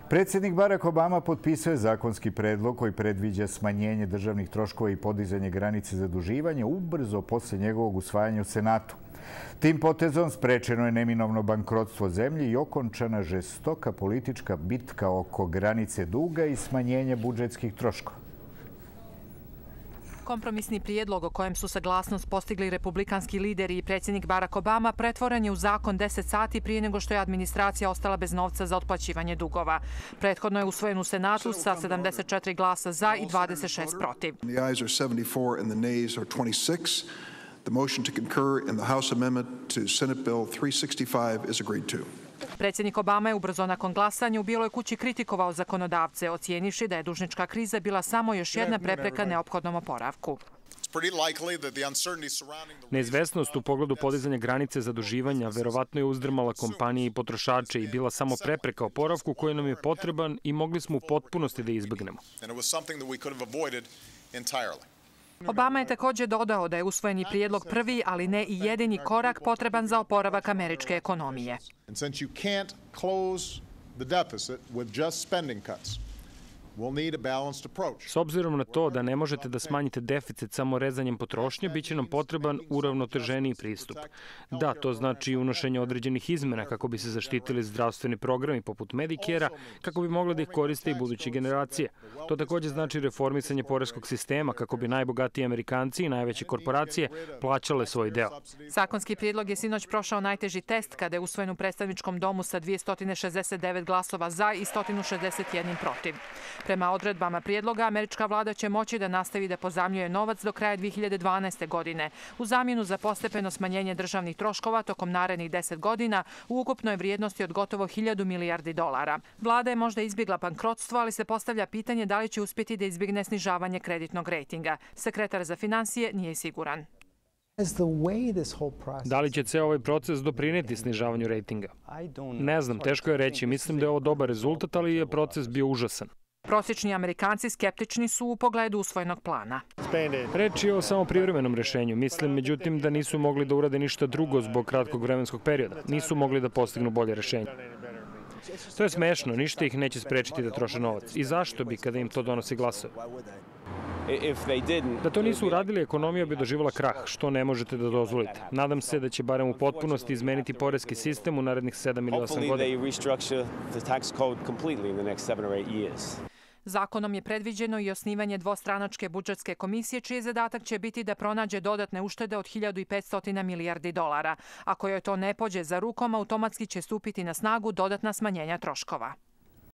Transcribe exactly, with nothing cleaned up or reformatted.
Predsjednik Barack Obama potpisao je zakonski predlog koji predviđa smanjenje državnih troškova i podizanje granice zaduživanja ubrzo posle njegovog usvajanja u Senatu. Tim potezom sprečeno je neminovno bankrotstvo zemlje i okončana žestoka politička bitka oko granice duga i smanjenja budžetskih troškova. Kompromisni prijedlog o kojem su saglasnost postigli republikanski lideri i predsjednik Barack Obama pretvoren je u zakon deset sati prije nego što je administracija ostala bez novca za otplaćivanje dugova. Prethodno je usvojen u Senatu sa sedamdeset četiri glasa za i dvadeset šest protiv. The motion to concur in the House amendment to Senate Bill three sixty-five is agreed to. Predsjednik Obama je ubrzo nakon glasanja u Bijeloj kući kritikovao zakonodavce, ocijenivši da je dužnička kriza bila samo još jedna prepreka neophodnom oporavku. Neizvesnost u pogledu podizanja granice zaduživanja verovatno je uzdrmala kompanije i potrošače i bila samo prepreka oporavku koji nam je potreban i mogli smo u potpunosti da izbegnemo. Obama je također dodao da je usvojeni prijedlog prvi, ali ne i jedini korak potreban za oporavak američke ekonomije. S obzirom na to da ne možete da smanjite deficit samo rezanjem potrošnje, bit će nam potreban uravnoteženiji pristup. Da, to znači unošenje određenih izmena kako bi se zaštitili zdravstveni programi poput Medicare-a, kako bi mogli da ih koriste i buduće generacije. To također znači reformisanje poreskog sistema kako bi najbogatiji Amerikanci i najveće korporacije plaćale svoj deo. Zakonski prijedlog je sinoć prošao najteži test kada je usvojen u predstavničkom domu sa dvjesto šezdeset devet glasova za i sto šezdeset jedan protiv. Prema odredbama prijedloga, američka vlada će moći da nastavi da pozajmljuje novac do kraja dvije hiljade dvanaeste. godine, u zamjenu za postepeno smanjenje državnih troškova tokom narednih deset godina u ukupnoj vrijednosti od gotovo hiljadu milijardi dolara. Vlada je možda izbjegla bankrotstvo, ali se postavlja pitanje da li će uspjeti da izbjegne snižavanje kreditnog rejtinga. Sekretar za financije nije siguran. Da li će ceo ovaj proces doprineti snižavanju rejtinga? Ne znam, teško je reći. Mislim da je ovo dobar rezultat, ali je proces bio užasan. Prosječni Amerikanci skeptični su u pogledu usvojenog plana. Reč je o samo privremenom rešenju. Mislim, međutim, da nisu mogli da urade ništa drugo zbog kratkog vremenskog perioda. Nisu mogli da postignu bolje rešenje. To je smešno, ništa ih neće sprečiti da troše novac. I zašto bi kada im to donosi glasove? Da to nisu uradili, ekonomija bi doživjela krah, što ne možete da dozvolite. Nadam se da će barem u potpunosti izmeniti poreski sistem u narednih sedam ili osam godina. Zakonom je predviđeno i osnivanje dvostranačke budžetske komisije, čiji zadatak će biti da pronađe dodatne uštede od hiljadu petsto milijardi dolara. Ako joj to ne pođe za rukom, automatski će stupiti na snagu dodatna smanjenja troškova.